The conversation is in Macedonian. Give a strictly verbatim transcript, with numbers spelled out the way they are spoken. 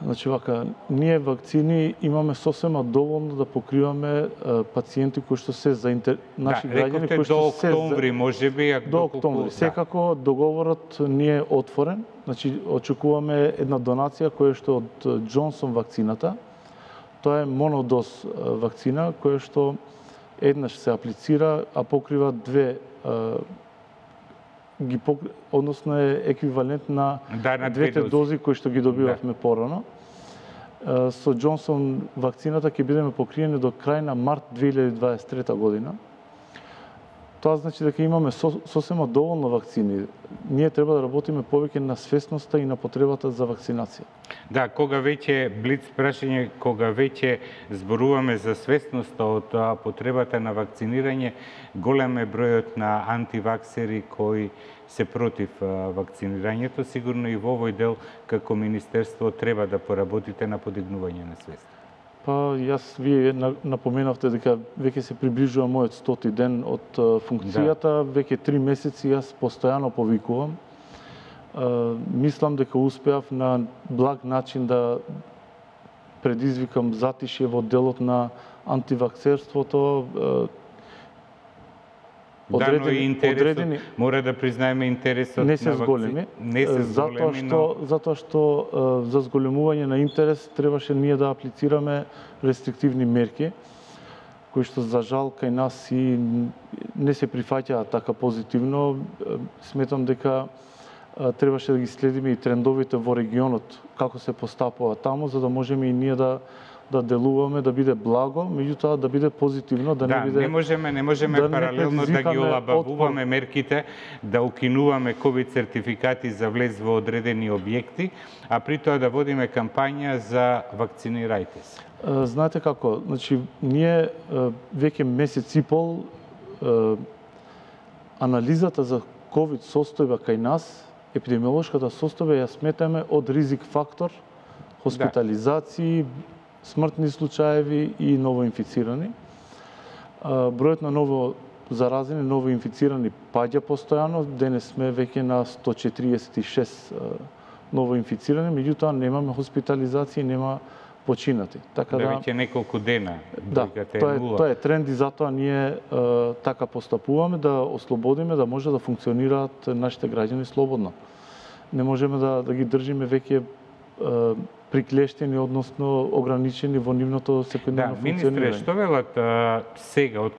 Значи вака, ние вакцини имаме сосема доволно да покриваме а, пациенти кои што се за интер... наши да, граѓани кои што до се октомври, можеби, ако до октомври. Да. Секако договорот не е отворен. Значи очекуваме една донација која што од Джонсон вакцината. Тоа е монодоз вакцина која што еднаш се аплицира, а покрива две а, ги пок... односно е еквивалент на, да, на двете дози. дози кои што ги добивавме да. порано. Со Джонсон вакцината ќе бидеме покриени до крај на март две илјади дваесет и трета година. Тоа значи дека имаме сосема доволно вакцини. Ние треба да работиме повеќе на свесноста и на потребата за вакцинација. Да, кога веќе блиц прашање, кога веќе зборуваме за свесноста од потребата на вакцинирање, голем е бројот на антиваксери кои се против вакцинирањето. Сигурно и во овој дел како министерство треба да поработите на подигнување на свест. Па, јас, вие напоменавте дека веќе се приближува мојот стоти ден од функцијата, да. Веќе три месеци јас постојано повикувам. Мислам дека успеав на благ начин да предизвикам затишје во делот на антиваксерството. Одредени, да, но и интересот, одредени, мора да признаеме интересот не се на зголеми, не се затоа зголеми, што но... затоа што за зголемување на интерес требаше ние да аплицираме рестриктивни мерки кои што за жал кај нас и не се прифаќаат така позитивно. Сметам дека требаше да ги следиме и трендовите во регионот како се постапува таму, за да можеме и ние да да делуваме, да биде благо, меѓутоа да биде позитивно, да, да не биде... не можеме, не можеме да паралелно не да ги олабавуваме мерките, да укинуваме ковид сертификати за влез во одредени објекти, а при тоа да водиме кампања за вакцинирајте се. Знаете како, значи, ние веќе месец и пол анализата за ковид состојба кај нас, епидемиолошката состојба ја сметаме од ризик фактор, хоспитализации, да. смртни случаеви и новоинфицирани. Бројот на ново заразени, ново инфицирани паѓа постојано. Денес сме веќе на сто четириесет и шест ново инфицирани, меѓутоа немаме хоспитализации, нема починати. Така да, да веќе неколку дена. Да, тоа е, тоа е тренд и затоа ние е, така постапуваме да ослободиме, да може да функционираат нашите граѓани слободно. Не можеме да, да ги држиме веќе е, приклештени, односно ограничени во нивното секојдневно функционирање. Да, министре, што велат сега од